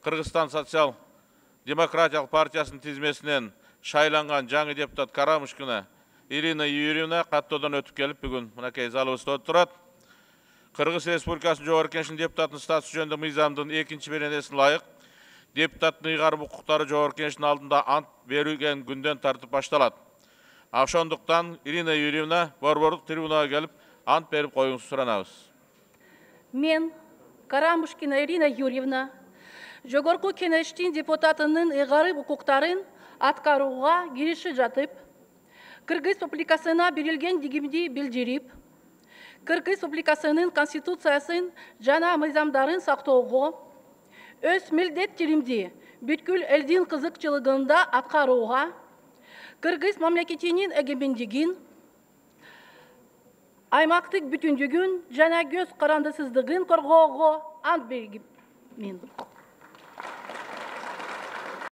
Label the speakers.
Speaker 1: Кыргызстан социал-демократиялык партиясынын тизмесинен шайланган жаңы депутат Карамушкина Ирина Юрьевна каттоодон өтүп келип, бүгүн мынакей залыбызда отурат. Кыргыз Республикасынын Жогорку Кеңешинин депутатынын статусу жөнүндө мыйзамдын 2-беренесине ылайык депутаттын ыйгарым укуктары Жогорку Кеңештин алдында ант берилген күндөн тартып башталат. Ошондуктан Ирина Юрьевна борборлук трибунага келип ант берип коюңузду суранабыз.
Speaker 2: Мен, Карамушкина Ирина Юрьевна, Жогорку Кеңештин депутатынын ыйгарым укуктарын аткарууга киришип жатып, Кыргыз Республикасына берилгендигимди билдирип, Кыргыз Республикасынын Конституциясын жана мыйзамдарын сактоого, өз милдеттеримди бүткүл элдин кызыкчылыгында аткарууга, Кыргыз мамлекетинин эгемендигин, аймактык бүтүндүгүн жана көз карандысыздыгын коргоого ант бергимин.